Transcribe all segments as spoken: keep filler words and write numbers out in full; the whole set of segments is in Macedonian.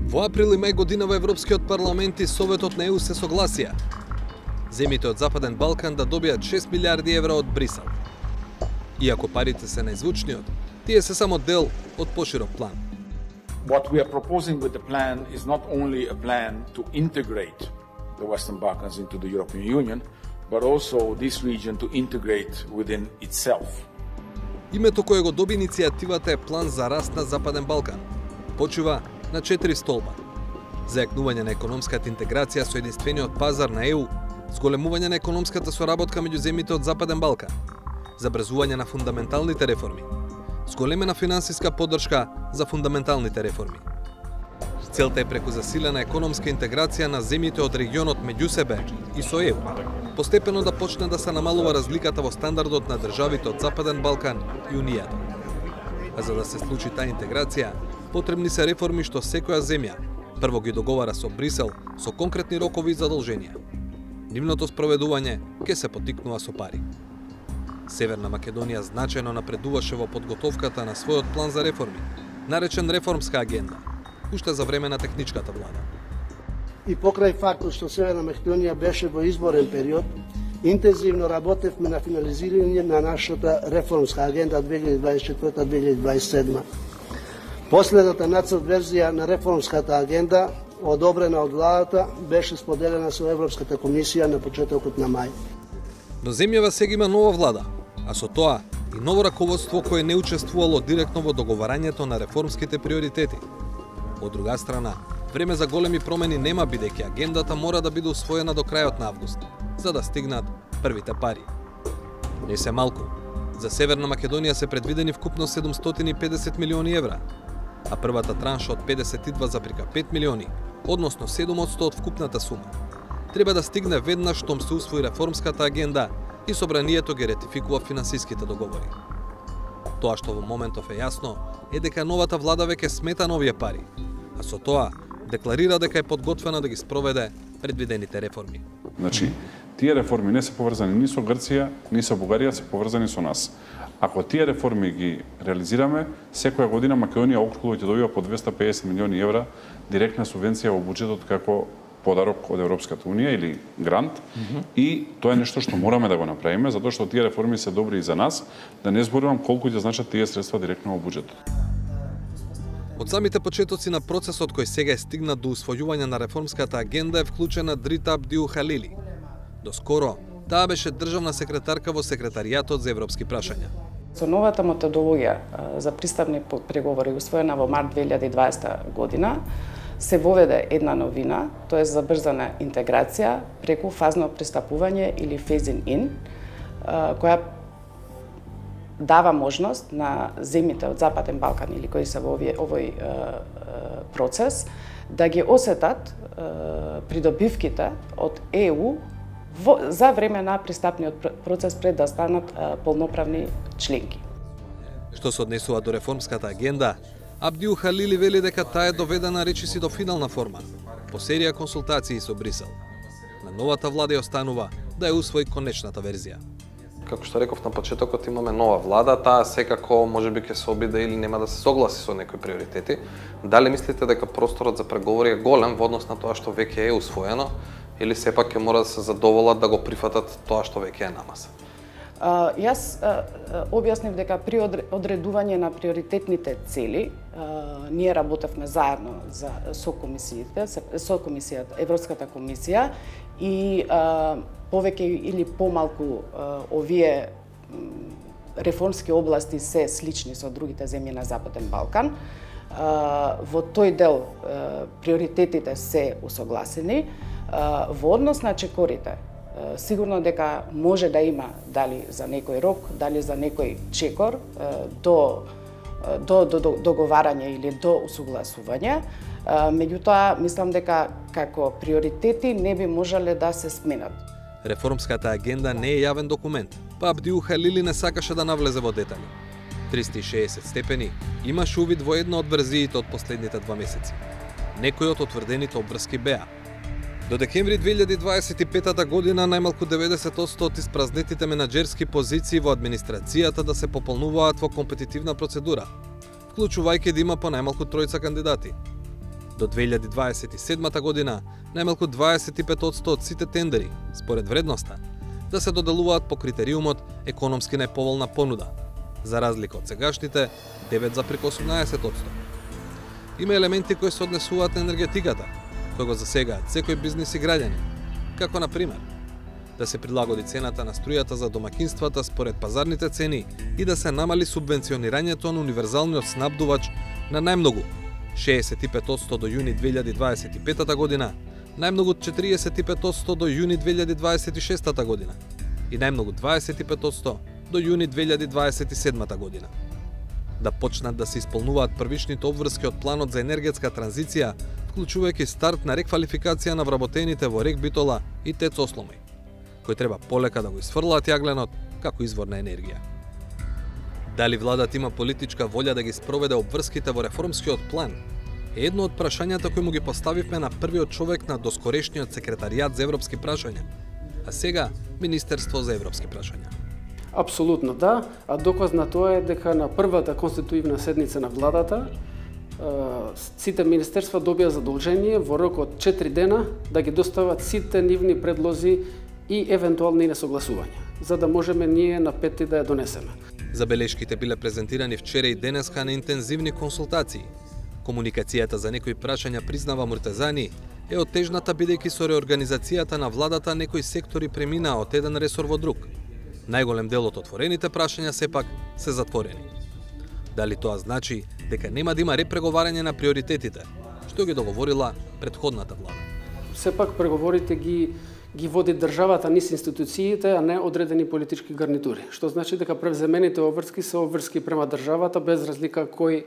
Во април и мај година во Европскиот парламент и Советот на Е У се согласија земјите од Западен Балкан да добијат шест милиарди евра од Брисел. Иако парите се најзвучниот, тие се само дел од поширок план. What we are proposing with the plan is not only a plan to integrate the Western Balkans into the European Union, but also this region to integrate within itself. Името кое го доби иницијативата е План за раст на Западен Балкан. Почива на четири столба: зајакнување на економската интеграција со единствениот пазар на Е У, зголемување на економската соработка меѓу земјите од Западен Балкан, забрзување на фундаменталните реформи, зголемена финансиска поддршка за фундаменталните реформи. Целта е преку засилена економска интеграција на земјите од регионот меѓу себе и со Е У, постепено да почне да се намалува разликата во стандардот на државите од Западен Балкан и Унијата. А за да се случи таа интеграција, потребни се реформи што секоја земја прво ги договара со Брисел со конкретни рокови и задолженија. Нивното спроведување ќе се поттикнува со пари. Северна Македонија значајно напредуваше во подготовката на својот план за реформи, наречен реформска агенда, уште за време на техничката влада. И покрај фактот што Северна Македонија беше во изборен период, интензивно работевме на финализирање на нашата реформска агенда две илјади дваесет и четврта до две илјади дваесет и седма. Последната нацрт верзија на реформската агенда, одобрена од владата, беше споделена со Европската комисија на почетокот на мај. Но земјава сега има нова влада, а со тоа и ново раководство кое не учествувало директно во договарањето на реформските приоритети. Од друга страна, време за големи промени нема, бидејќи агендата мора да биде усвоена до крајот на август, за да стигнат првите пари. Не се малку. За Северна Македонија се предвидени вкупно седумстотини и педесет милиони евра, а првата транша од педесет и два запирка пет милиони, односно седум одсто од вкупната сума, треба да стигне веднаш штом се усвои реформската агенда и собранието ги ретификува финансиските договори. Тоа што во моментов е јасно е дека новата влада веќе смета новија пари, а со тоа декларира дека е подготвена да ги спроведе предвидените реформи. Значи, тие реформи не се поврзани ни со Грција, ни со Бугарија, се поврзани со нас. Ако тие реформи ги реализираме, секоја година Македонија околу ќе добива по двесте и педесет милиони евра директна субвенција во буџетот како подарок од Европската Унија или грант. Mm -hmm. И тоа е нешто што мораме да го направиме, затоа што тие реформи се добри и за нас, да не зборувам колку ќе значат тие средства директно во буџетот. Од самите почетоци на процесот кој сега е стигнат до усвојување на реформската агенда е вклучена Дрита Абдиухалили. Доскоро, таа беше државна секретарка во секретаријатот за европски прашања. Со новата методологија за пристапни преговори усвоена во март две илјади и дваесета година, се воведе една новина, тоа е забрзана интеграција преку фазно пристапување или phasing in, која дава можност на земјите од Западен Балкан или кои се во овој, овој процес да ги осетат придобивките од Е У во, за време на пристапниот процес пред да станат полноправни членки. Што се однесува до реформската агенда, Абдиухалили вели дека таа е доведена речиси до финална форма, по серија консултации со Брисел. На новата влада ја останува да ја усвои конечната верзија. Како што реков на почетокот, имаме нова влада, таа секако можеби ќе се обиде или нема да се согласи со некои приоритети. Дали мислите дека просторот за преговори е голем во однос на тоа што веќе е усвоено, или сепак ќе мора да се задоволат да го прифатат тоа што веќе е на маса? Uh, јас uh, објаснив дека при одредување на приоритетните цели uh, ние работевме заедно за, со комисиите, со комисијата, Европската комисија и uh, повеќе или помалку uh, овие реформски области се слични со другите земји на Западен Балкан. Uh, во тој дел uh, приоритетите се усогласени. Uh, во однос на чекорите, сигурно дека може да има дали за некој рок, дали за некој чекор до, до, до, до договарање или до усогласување. Меѓутоа, мислам дека како приоритети не би можеле да се сменат. Реформската агенда не е јавен документ, па Абдиухалили не сакаше да навлезе во детали. триста и шеесет степени имаше увид во една од верзиите од последните два месеци. Некои од утврдените обврски беа: до декември две илјади дваесет и пета година најмалку деветдесет одсто од испразнетите менаџерски позиции во администрацијата да се пополнуваат во компетитивна процедура, вклучувајќи да има по најмалку тројца кандидати. До две илјади дваесет и седма година, најмалку дваесет и пет одсто од сите тендери, според вредноста, да се доделуваат по критериумот економски најповолна понуда, за разлика од сегашните девет запир осумнаесет одсто. Има елементи кои се однесуваат на енергетиката, кои го засегаат секој бизнис и граѓани, како на пример да се прилагоди цената на струјата за домакинствата според пазарните цени и да се намали субвенционирањето на универзалниот снабдувач на најмногу шеесет и пет одсто до јуни две илјади дваесет и пета година, најмногу четириесет и пет одсто до јуни две илјади дваесет и шеста година и најмногу дваесет и пет одсто до јуни две илјади дваесет и седма година. Да почнат да се исполнуваат првичните обврски од планот за енергетска транзиција, вклучувајќи старт на реквалификација на вработените во Рек Битола и Тец Осломој, кој треба полека да го изфрлаат јагленот како извор на енергија. Дали владата има политичка волја да ги спроведе обврските во реформскиот план, е едно од прашањата кои му ги поставивме на првиот човек на доскорешниот секретаријат за европски прашања, а сега Министерство за европски прашања. Апсолутно да, а доказ на тоа е дека на првата конституивна седница на владата сите министерства добија задолжение во рок од четири дена да ги достават сите нивни предлози и евентуални несогласувања, за да можеме ние на пети да ја донесеме. Забелешките биле презентирани вчера и денеска на интензивни консултации. Комуникацијата за некои прашања, признава Муртазани, е оттежната бидејќи со реорганизацијата на владата некои сектори преминаа од еден ресор во друг. Најголем дел од отворените прашања сепак се затворени. Дали тоа значи дека нема да има репреговарање на приоритетите, што ги договорила претходната влада? Сепак преговорите ги ги води државата низ институциите, а не одредени политички гарнитури. Што значи дека превземените обврски се обврски према државата без разлика кој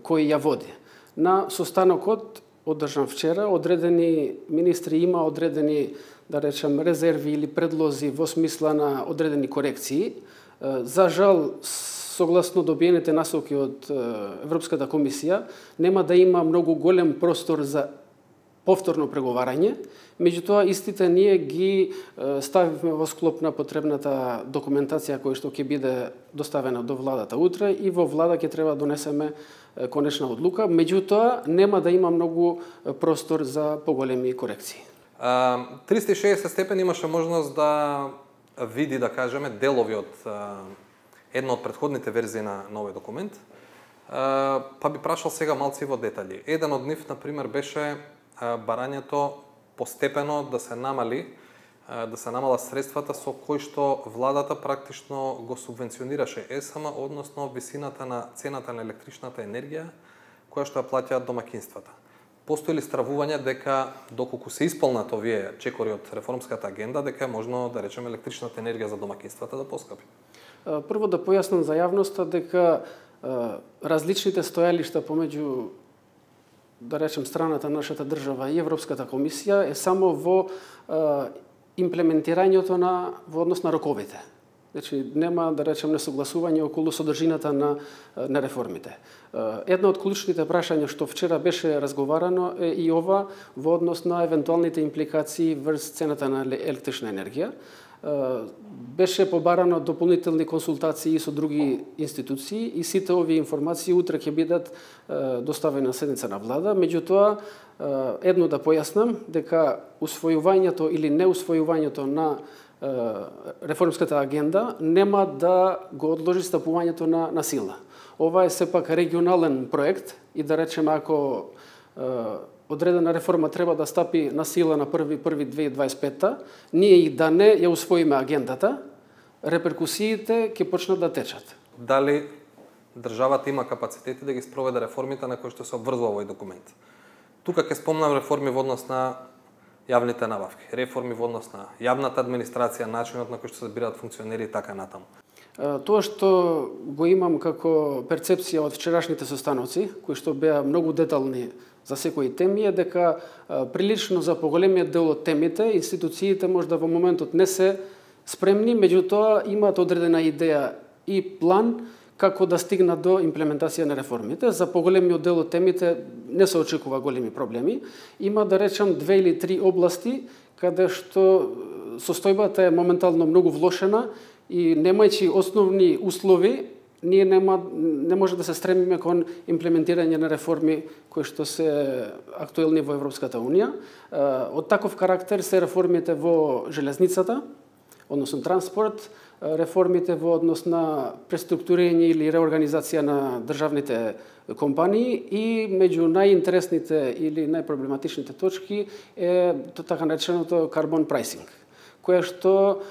кој ја води. На состанокот одржан вчера, одредени министри има одредени, да речем, резерви или предлози во смисла на одредени корекции. За жал, согласно добиените насоки од Европската комисија, нема да има многу голем простор за повторно преговарање, меѓутоа истите ние ги ставивме во склоп на потребната документација која што ќе биде доставена до владата утре и во влада ќе треба да донесеме конечна одлука, меѓутоа нема да има многу простор за поголеми корекции. триста и шеесет степени имаше можност да види, да кажеме, делови од една од претходните верзии на новиот документ, па би прашал сега малци во детали. Еден од нив, например, беше барањето постепено да се намали, да се намала средствата со кои што владата практично го субвенционираше ЕСМ, односно висината на цената на електричната енергија која што ја плаќаат домакинствата. Постои ли стравување дека доколку се исполнат овие чекори од реформската агенда, дека е можно да речеме електричната енергија за домакинствата да поскапи? Прво да појаснам за јавноста дека различните стојалишта помеѓу, да речем, страната на нашата држава и Европската комисија е само во имплементирањето на во однос на роковите. Значи нема, да речем, несогласување околу содржината на на реформите. Една од клучните прашања што вчера беше разговарано е и ова во однос на евентуалните импликации врз цената на електрична енергија. Беше побарано дополнителни консултации со други институции и сите овие информации утре ќе бидат доставени на седница на влада. Меѓутоа, едно да појаснам дека усвојувањето или неусвојувањето на реформската агенда нема да го одложи стапувањето на, на сила. Ова е сепак регионален проект и да речеме ако одредена реформа треба да стапи на сила на први први две илјади дваесет и пета, ние и да не ја усвоиме агендата, реперкусиите ќе почнат да течат. Дали државата има капацитети да ги спроведе реформите на кои што се обврзува овој документ? Тука ќе спомнам реформи во однос на јавните набавки, реформи во однос на јавната администрација, начинот на кој што се бираат функционери и така натаму. Тоа што го имам како перцепција од вчерашните состаноци, кои што беа многу детални за секои теми, е дека прилично за поголемиот дел од темите институциите можда во моментот не се спремни, меѓутоа имаат одредена идеја и план како да стигнат до имплементација на реформите. За поголемиот дел од темите не се очекува големи проблеми. Има, да речем, две или три области каде што состојбата е моментално многу влошена и немајќи основни услови ние нема, не може да се стремиме кон имплементирање на реформи кои што се актуелни во Европската Унија. Од таков карактер се реформите во железницата, односно транспорт, реформите во однос на преструктурирање или реорганизација на државните компании и меѓу најинтересните или најпроблематичните точки е така нареченото carbon pricing, кое што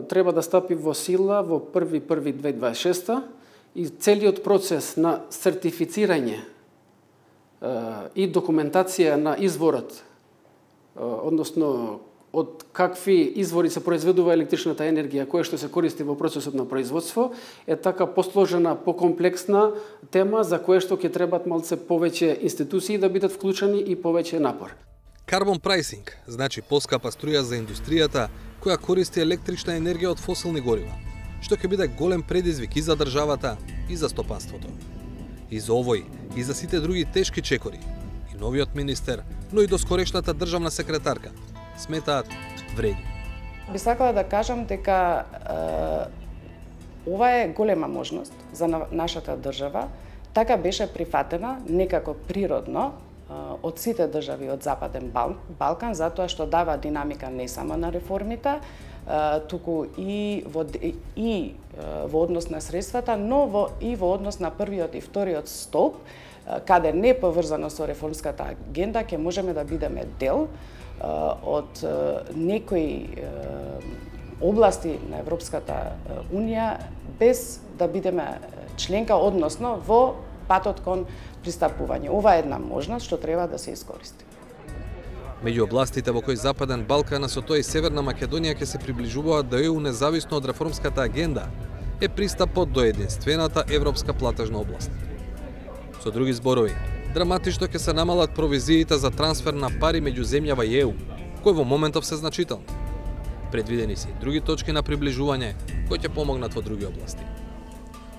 треба да стапи во сила во први први две илјади дваесет и шеста и целиот процес на сертифицирање и документација на изворот, односно од какви извори се произведува електричната енергија, која што се користи во процесот на производство, е така посложена, покомплексна тема за која што ќе требат малце повеќе институции да бидат вклучени и повеќе напор. Carbon pricing значи поскапа струја за индустријата која користи електрична енергија од фосилни горива, што ќе биде голем предизвик и за државата и за стопанството. И за овој, и за сите други тешки чекори, и новиот министер, но и доскорешната државна секретарка, сметаат вреди. Би сакала да кажам дека е, ова е голема можност за нашата држава, така беше прифатена некако природно од сите држави од Западен Балкан, затоа што дава динамика не само на реформите, туку и во, и во однос на средствата, но во, и во однос на првиот и вториот столб, каде не поврзано со реформската агенда, ќе можеме да бидеме дел од некои области на Европската Унија без да бидеме членка, односно во патот кон пристапување. Ова е една можност што треба да се искористи. Меѓу областите во кои Западен Балкан, а со тоа и Северна Македонија ќе се приближуваат до Е У независно од реформската агенда, е пристапот до единствената европска платежна област. Со други зборови, драматично ќе се намалат провизиите за трансфер на пари меѓу земјава и Е У, кои во моментов се значителни. Предвидени се и други точки на приближување кои ќе помогнат во други области.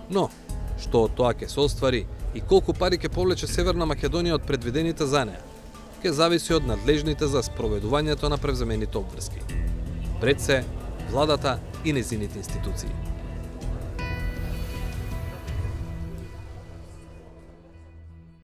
Но, што од тоа ќе се оствари и колку пари ќе повлече Северна Македонија од предвидените за неа, ќе зависи од надлежните за спроведувањето на превземените обврски. Пред се, владата и нејзините институции.